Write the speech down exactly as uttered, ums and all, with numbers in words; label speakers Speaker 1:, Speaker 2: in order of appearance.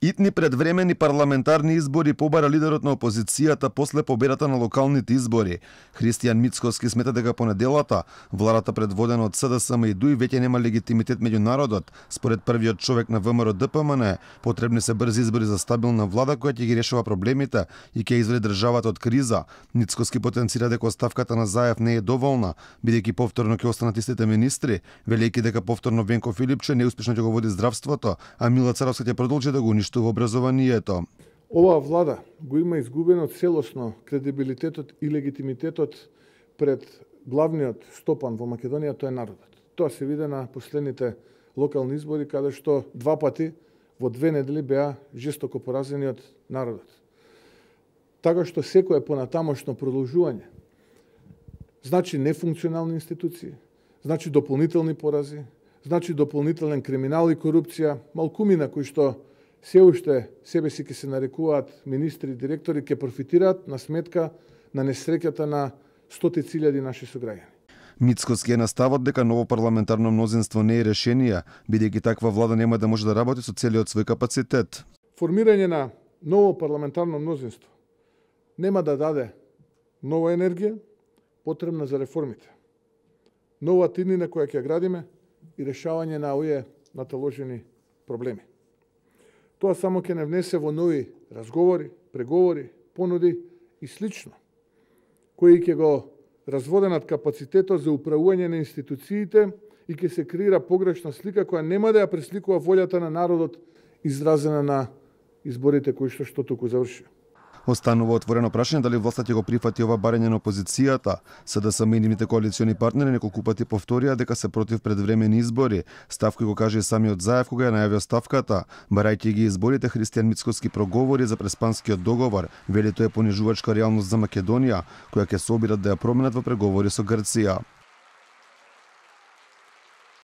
Speaker 1: Итни предвремени парламентарни избори побара лидерот на опозицијата после победата на локалните избори. Христијан Мицкоски смета дека по неделата владата предводена од СДСМ и ДУИ веќе нема легитимитет меѓу народот. Според првиот човек на ВМРО Д П М Н, потребни се брзи избори за стабилна влада која ќе ги решава проблемите и ќе изведе државата од криза. Мицкоски потенцира дека оставката на Заев не е доволна, бидејќи повторно ќе останат истите министри, велејќи дека повторно Венко Филипче неуспешно ќе го води здравството, а Мила Царовска ќе продолжи да го уништува образованието.
Speaker 2: Оваа влада го има изгубено целосно кредибилитетот и легитимитетот пред главниот стопан во Македонија, тоа е народот. Тоа се виде на последните локални избори, каде што два пати во две недели беа жестоко поразени од народот. Така што секое понатамошно продолжување значи нефункционални институции, значи дополнителни порази, значи дополнителен криминал и корупција, малкумина кои што се уште себе си ќе се нарекуваат министри и директори, ќе профитираат на сметка на несреќата на стотици илјади наши сограѓани.
Speaker 1: Мицкоски е на ставот дека ново парламентарно мнозинство не е решение, бидејќи таква влада нема да може да работи со целиот свој капацитет.
Speaker 2: Формирање на ново парламентарно мнозинство нема да даде нова енергија потребна за реформите, нова тиднина која ќе градиме и решавање на овие наталожени проблеми. Тоа само ќе не внесе во нови разговори, преговори, понуди и слично, кои ќе го разводенат капацитетот за управување на институциите и ќе се креира погрешна слика која нема да ја пресликува волјата на народот изразена на изборите кои што што туку заврши.
Speaker 1: Останува отворено прашање дали власта ќе го прифати ова барање на опозицијата. СДСМ и нивните коалициони партнери неколку пати повторија дека се против предвремени избори. Став кој го каже и самиот Заев кога ја најави оставката. Барајќи ги изборите, Христијан Мицкоски проговори за преспанскиот договор. Вели тоа е понижувачка реалност за Македонија, која ќе се обидат да ја променат во преговори со Грција.